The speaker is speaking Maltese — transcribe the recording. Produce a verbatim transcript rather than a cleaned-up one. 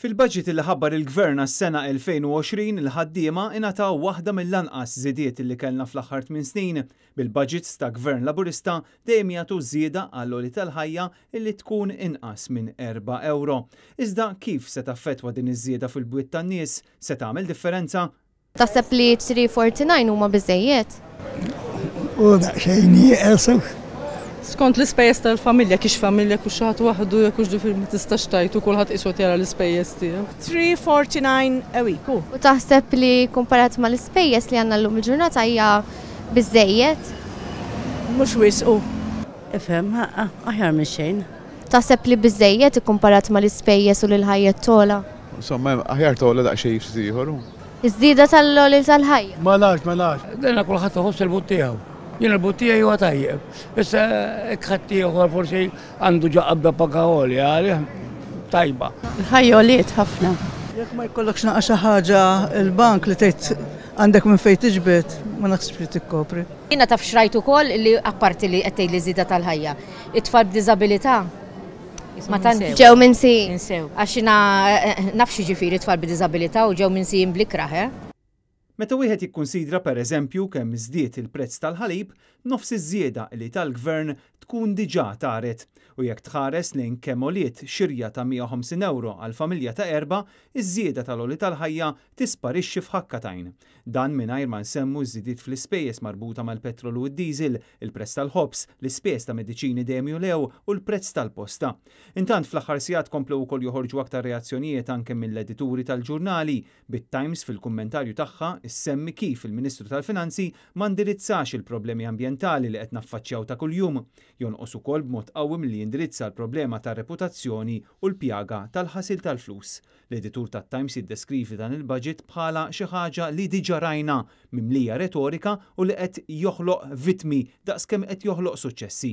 Fil-budget li ħabbar il-Gvern għas-sena elfejn u għoxrin, il-ħaddiema ingħataw waħda mill-anqas żidiet li kellna fl-aħħar tmien snin. Bil-budgets ta' Gvern Laburista dejjem jagħtu żieda għall-għoli tal-ħajja illi tkun inqas minn erba' euro. Iżda kif se taffettwa din iż-żieda fil-bwiet tan-nies? Se tagħmel differenza? Taħseb li three forty-nine huma biżejjed? U daqsxejn nieqes. Skont l-ispejjeż tal-familja, kiex familja kux xi ħadd waħdu, jekk hux ġifieri ma tistax tgħid u kulħadd qisu jara l-ispejjeż tiegħu. three forty-nine a week. U taħseb li komparat mal-ispejjeż li għandna llum il-ġurnata hija biżejjed? Mhux wisq. Ifhem, aħjar minn xejn. Taħseb li biżejjed ikkumparat mal-ispejjeż u lil ħajja tola? Insomma, aħjar tola daqsxejn ftit ieħor. Iż-żieda tal-għoli tal-ħajja? Ma nafx, ma nafx. Dejna kulħadd iħoss il-but tiegħu. Jien il-but tiegħi huwa tajjeb. Issa hekk ħadd ieħor forsi għandu ġa qabda paga għolja, għalih tajba. Il-ħajja għoliet ħafna. Jekk ma jkollokx naqa' xi ħaġa il-bank li tgħid għandek minn fejn tiġbed, ma naħsibx li tikkopri. Jiena taf xrajt ukoll li apparti li qed tgħid li żieda tal-ħajja. It-tfal b'diżabilità ma tantx Ġew minsijin. Insew. Għax jiena, eh, eh, naf xi ġifieri tfal b'diżabilità u ġew minsijin bl-ikrah, eh? Meta wieħed jikkunsidra pereżempju kemm żdied il-prezz tal-ħalib, nofs iż-żieda li tal-gvern tkun diġà taret. U jekk tħares lejn kemm għoliet xirja ta' mija u ħamsin euro għal familja ta' erba', iż-żieda tal-għoli tal-ħajja tisparixxi f'ħakka t'għajn. Dan mingħajr ma nsemmu żidiet fl-ispejjeż marbuta mal-petrol u d-diesel, il-prezz tal-ħobż, l-ispejjeż ta' mediċini dejjem julew u l-prezz tal-posta. Intant fl-aħħar sigħat komplew ukoll joħorġu aktar reazzjonijiet anke mill-edituri tal-ġurnali, bit-Times fil-kummentarju tagħha issemmi kif il-Ministru tal-Finanzi ma ndirizzax il-problemi ambjentali li qed naffaċċjaw ta' kuljum. Jonqos ukoll b'mod qawwi milli jindirizza l-problema tar-reputazzjoni u l-pjaga tal-ħasil tal-flus. L-editur tat-Times jiddeskrivi dan il-budget bħala xi ħaġa li diġà rajna mimlija retorika u li qed joħloq vittmi daqskemm qed joħloq suċċessi.